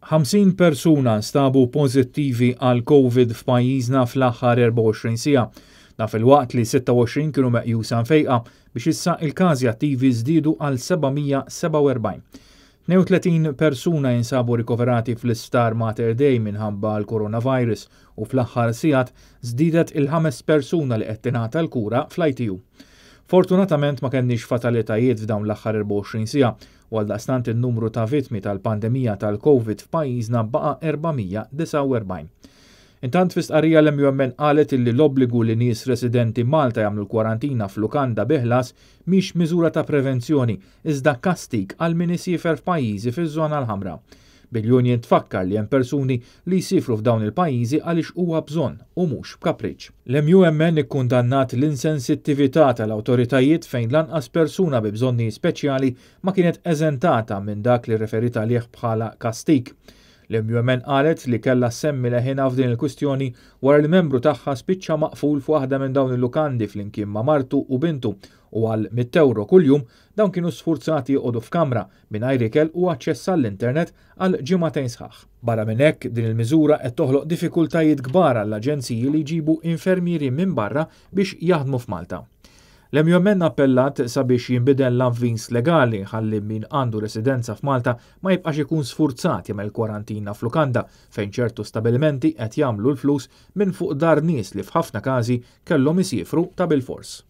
50 persuna nstabu pożittivi għal Covid f'pajjiżna fl-aħħar 24 siegħa. Dan filwaqt li 26 kienu meqjusa mfejqa biex issa il-każi attivi żdiedu għal 747. 32 persuna jinsabu rikoverati fl-Isptar Mater Dei minħabba l-coronavirus u fl-aħħar sigħat żdiedet il-ħames persuna li qed tingħata l-kura fl-ITU. Fortunatament ma kenniex fatalitajiet f'dawn l-aħħar 24 siegħa u għaldaqstant in-numru ta' vittmi tal-pandemija tal-Covid f'pajjiżna baqa' 449. Intant fi stqarrija l-MUMN qalet illi l-obbligu li nies residenti Malta jagħmlu l-kwarantina f'lukanda bi ħlas mhix miżura ta' prevenzjoni iżda kastig għal min isiefer f'pajjiżi fiż-żona l-ħamra. Bil-union tfakkar li hemm persuni li jsifru f'dawn il-pajjiżi għaliex huwa bżonn u mhux b'kapriċċ. L-MUMN ikkundannat l-insensittività tal-awtoritajiet fejn lanqas persuna bi bżonni speċjali ma kienet eżentata minn dak li rreferit għalih bħala kastig. L-MUMN qalet li kellha ssemmi leħinha f'din il-kwistjoni wara li membru tagħha spiċċa maqful f'waħda minn dawn il-lukandi flimkien ma' martu u bintu u għal 100 euro kuljum dawn kienu sfurzati joqogħdu f'kamra mingħajr ikel u aċċess għall-internet għal ġimagħtejn sħaħ. Barra minn hekk, din il-miżura qed toħloq diffikultajiet kbar għall-aġenziji li jġibu infermieri minn barra biex jaħdmu f'Malta. L-MUMN appellat sabiex jinbidel l-avviż legali ħalli min għandu residenza f'Malta ma jibqax ikun sfurzat jagħmel kwarantina f'lukanda fejn ċertu stabilimenti qed jagħmlu l-flus minn fuq dahar nies li f'ħafna każi kellhom isifru ta' bilfors.